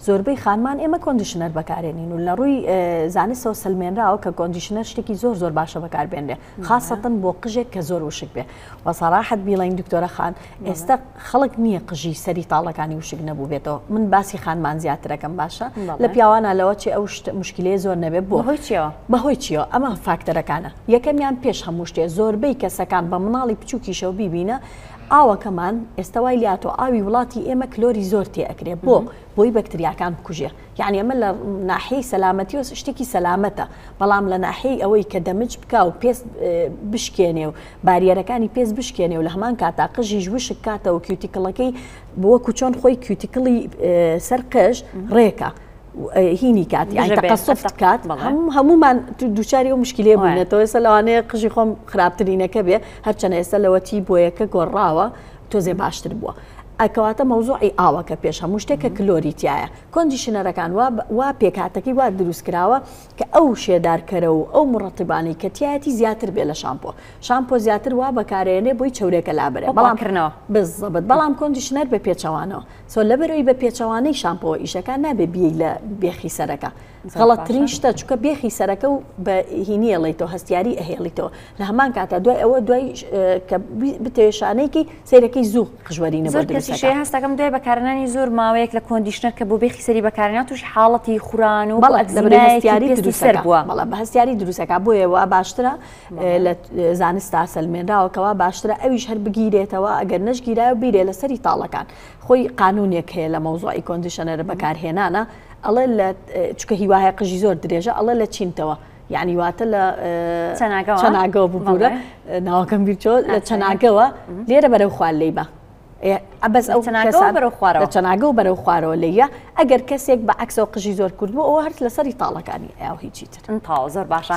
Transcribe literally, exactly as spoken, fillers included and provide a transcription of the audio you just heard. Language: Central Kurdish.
زۆربەی خانمان ئێمە conditioner بەکارێنین و لە ڕووی زانستەوە سەلمێنراوە کە conditioner شتێکی زۆر زۆر باشە بەکاربێنرێ، خاصەتەن بۆ قژێک کە زۆر وشک بێ. وە سەراحەت بیڵێین دکتۆرە خان، ئێستا خەڵک نییە قژی سەری تاڵەکانی وشک نەبوو بێتەوە. من باسی خانمان زیاترەکەم باشە، لە پیاوانە لەوە چێ ئەو مشکلەیە زۆر نەبێ. بۆ بەهۆی چیەوە؟ بەهۆی چیەوە؟ ئەمە فاکتەرەکانە. یەکەمیان پێش هەموو شتێ زۆربەی کەسەکان بە مناڵی بچووکیشەوە بیبینە ئاوەکەمان ئێستا وای لاتۆ ئاوی وڵاتی ئێمە کلۆری زۆر تێ ئەکرێ بۆ بۆی بەکتریاکان بکوژێ. یعنی ئەمە لە ناحیەی سەلامەتی و شتێکی سەلامەتە، بەڵام لە ناحیەی ئەوەی کە دەمج بکا و پێست بشکێنێ و باریەرەکانی پێست بشکێنێ و لە هەمان کاتا قژیش وشک کاتەوە cuticle ەکەی وەکو چۆن خۆی cuticle ی سەر قژ ڕێکە هینی کات، یعنی تەقەسوف کات. هەمومان دووچاری ئەو مشکلەیە بووینەتەوە. ئێستا لەوانەیە قژی خۆم خراپترینەکە بێ، هەرچەنە ئێستا لەوەتی بۆیەکە گۆڕاوە تۆزێ باشتر بووە. ئەکەواتە مەوزوعی ئاوەکە پێش هەموو شتێکە کلۆری تایە. conditioner ەکان وا پێکاتەکەی وا دروست کراوە کە ئەو شێدارکەرە و ئەو مڕەتیبانەی کە تایەتی زیاتر بێ لە شامپۆ. شامپۆ زیاتر وا بەکارێنێ بۆی چەورێکە لابرێ، بەڵام کردنەوە بزەبت. بەڵام conditioner بە پێچەوانەوە سۆ لەبەرەوەی بە پێچەوانەی شامپۆ ئیشەکان نابێ بێ لە بێخی سەرەکە. غەڵەتترین شتە چونکە بێخی سەرەکە و بە هینی ئەڵێیتەوە، هەستیاری ئەهێڵیتەوە. لە هەمان کاتە دوای ئەوە دوای کە بتەوێ شانەیەکی سەیرەکەی زوو قژوەرینە بۆ دروستەکە. زۆر کەسیش هەستەکەم دوای بەکارهێنانی زۆر ماوەیەک لە conditioner کە بۆ بێخی سەری بەکارهێنا تووشی حاڵەتی خوران و هەستیاری سەر بووە. بەڵێ بە هەستیاری دروستەکە. بۆیە وا باشترە لە زانستا سەلمێنراوە کەوا باشترە ئەویش هەر بگیرێتەوە، ئەگەر نەشگیرایە بیرێ لەسەری تاڵەکان. خۆی قانونێک هەیە لە مەوزوعی conditioner بەکارهێنانە، ئەڵێ لە چونکە هیواهەیە قژی زۆر درێژە، ئەڵێ لە چینتەوە، یعنی واتە لە چەناگەوە ببوورە ناوەکەم بیرچۆ، لە چەناگەوە لێرە بەرەو خوار لێی بە. بەس ئەو لە چەناگەوە بەرەو خوارەوە لێیە. ئەگەر کەسێک بە عەکسەوە قژی زۆر کرد بوو ئەوە هەر لەسەری تاڵەکانی ئەو هیچی تر. تاو زۆر باشە.